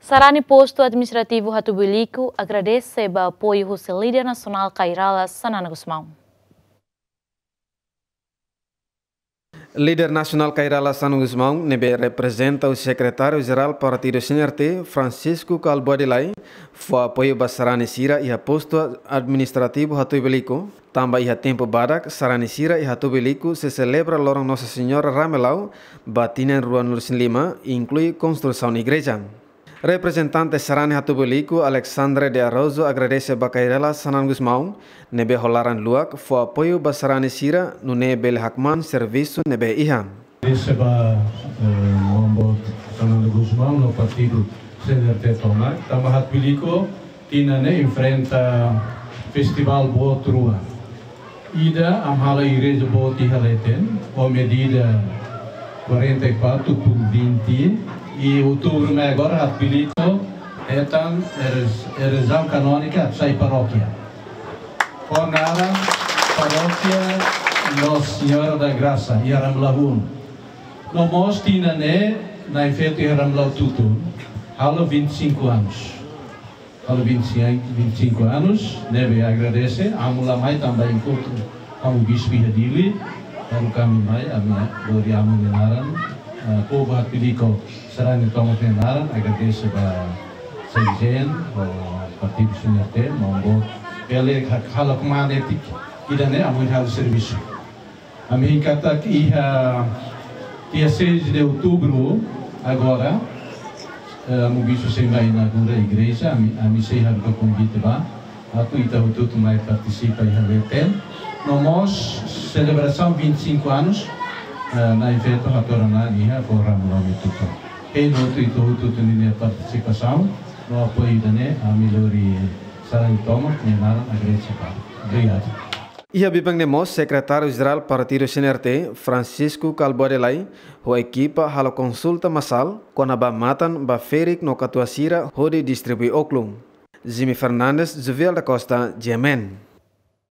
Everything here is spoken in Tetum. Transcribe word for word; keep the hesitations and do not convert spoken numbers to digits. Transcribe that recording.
Sarani Postu Administrativu Hatubuiliku agradese ba apoiu husi Líder Nasionál Kay Rala Xanana Gusmão. Líder Nasionál Kay Rala Xanana Gusmão, ne'ebé reprezenta Sekretáriu Jerál Partidu C N R T, Francisco Kalbuadi Lay, fó apoiu ba sarani sira iha Postu Administrativu Hatubuiliku, tanba iha tempu badak sarani sira iha Hatubuiliku sei selebra loron Nossa Senhora Ramelau ba tinan ruanulu-resin-lima, inklui konstrusaun igreja. Reprezentante sarani Hatubuiliku, Alexandre de Araújo, agradese ba Kay Rala Xanana Gusmão, ne'ebé ho laran luak fó apoiu ba sarani sira nune'e bele hakmaan servisu ne'ebé iha. Agradese ba, eh, maun boot Xanana Gusmão no partidu C N R T tomak, tanba Hatubuiliku tinan ne'e enfrenta festivál boot rua. Ida, ami halo igreja boot iha leten, ho medida quarenta e quatro por vinte, i outubru mai agora Hatubuiliku hetan ere-, erezaun kanónika atu sai parókia. Ho naran Parókia Nossa Senhora da Graça, iha Ramelau. No mós tinan ne'e, Na'in Feto iha Ramelau Tutun, halo vinte e cinco anos. Halo vinte e cinco, vinte e cinco anos, ne'ebé agradese, amu la mai tanba enkontru ho amu bispu iha Dili, baru ami mai, ami lori amu nia naran, eh, povu Hatubuiliku sarani tomak nia naran, agradese ba sekjen, ho partidu C N R T, maun boot, bele ha-, halo kmaan etik, ida-ne'e amu halo servisu. Ami hein katak iha dia seis de outubro agora, eh, amu bispu sei mai inaugura igreja, ami, ami sei haruka konvite ba, atu ita hotu-hotu mai partisipa iha leten. No mós selebrasaun vinte e cinco anos, eh, Na'in Feto hato'o ona iha forum Lome Tutu. Hein hotu ita hotu-hotu ninia partisipasaun, no apoiu ida-ne'e, ami lori sarani tomak nia naran agradese ba. Obrigadu. Iha biban ne'e mós Sekretáriu Jerál Partidu C N R T, Francisco Kalbuadi Lay, ho ekipa halo konsulta masál kona-ba matan ba ferik no katuas sira hodi distribui oklu. Jimmy Fernandes, Juvial da Costa, G M N.